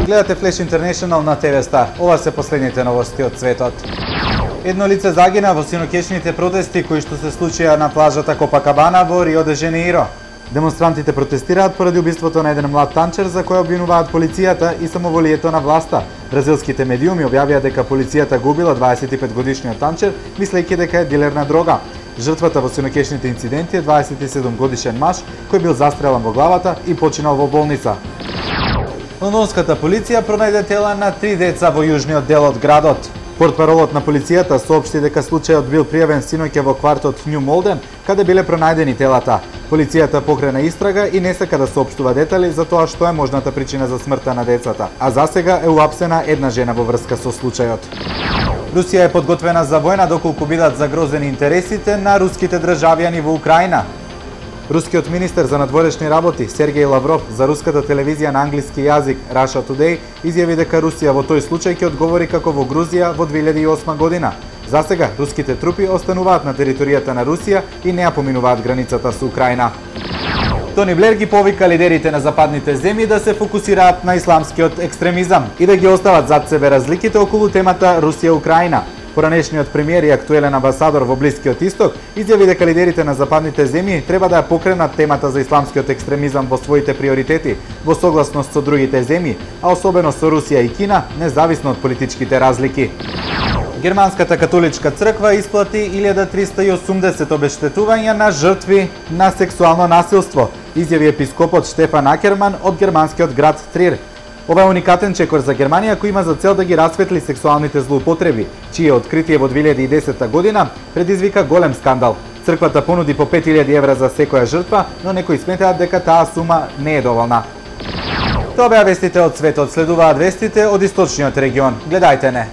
Гледате Flash International на ТВ Стар. Ова се последните новости од светот. Едно лице загина во синокешните протести кои што се случија на плажата Копакабана во Рио де Женеиро. Демонстрантите протестираат поради убиството на еден млад танчер за кој обвинуваат полицијата и самоволието на власта. Бразилските медиуми објавија дека полицијата го убила 25-годишниот танчер, мислејќи дека е дилер на дрога. Жртвата во синокешните инциденти е 27-годишен маж кој бил застрелан во главата и починал во болница. Лондонската полиција пронајде тела на 3 деца во јужниот дел од градот. Портпаролот на полицијата соопшти дека случајот бил пријавен синоќа во квартот Нью Молден, каде биле пронајдени телата. Полицијата покрена истрага и не сака да соопштува детали за тоа што е можната причина за смртта на децата, а засега е уапсена една жена во врска со случајот. Русија е подготвена за војна доколку бидат загрозени интересите на руските државјани во Украина. Рускиот министер за надворешни работи Сергеј Лавров за руската телевизија на англиски јазик Russia Today изјави дека Русија во тој случај ќе одговори како во Грузија во 2008 година. Засега руските трупи остануваат на територијата на Русија и не ја поминуваат границата со Украина. Тони Блер ги повика лидерите на западните земји да се фокусираат на исламскиот екстремизам и да ги остават зад себе разликите околу темата Русија-Украина. Поранешниот премиер и актуелен амбасадор во Блискиот Исток изјави дека лидерите на западните земји треба да ја покренат темата за исламскиот екстремизам во своите приоритети, во согласност со другите земји, а особено со Русија и Кина, независно од политичките разлики. Германската католичка црква исплати 1380 обештетувања на жртви на сексуално насилство, изјави епископот Штефан Акерман од германскиот град Трир. Ова е уникатен чекор за Германија кој има за цел да ги расветли сексуалните злоупотреби, чие откритие во 2010 година предизвика голем скандал. Црквата понуди по 5000 евра за секоја жртва, но некои сметаат дека таа сума не е доволна. Тоа беа вестите од светот, следуваат вестите од источниот регион. Гледајте не.